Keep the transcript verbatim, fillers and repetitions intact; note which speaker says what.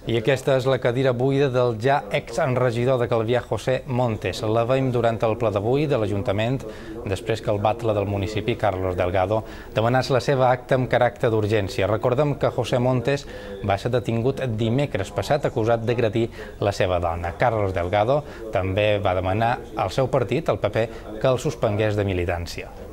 Speaker 1: I aquesta és la cadira buida del ja exregidor de Calvià, José Montes. La veiem durant el ple d'avui de l'Ajuntament, després que el batle del municipi, Carlos Delgado, demanés la seva acta amb caràcter d'urgència. Recordem que José Montes va ser detingut dimecres passat acusat d'agredir la seva dona. Carlos Delgado també va demanar al seu partit, el P P, que el suspengués de militància.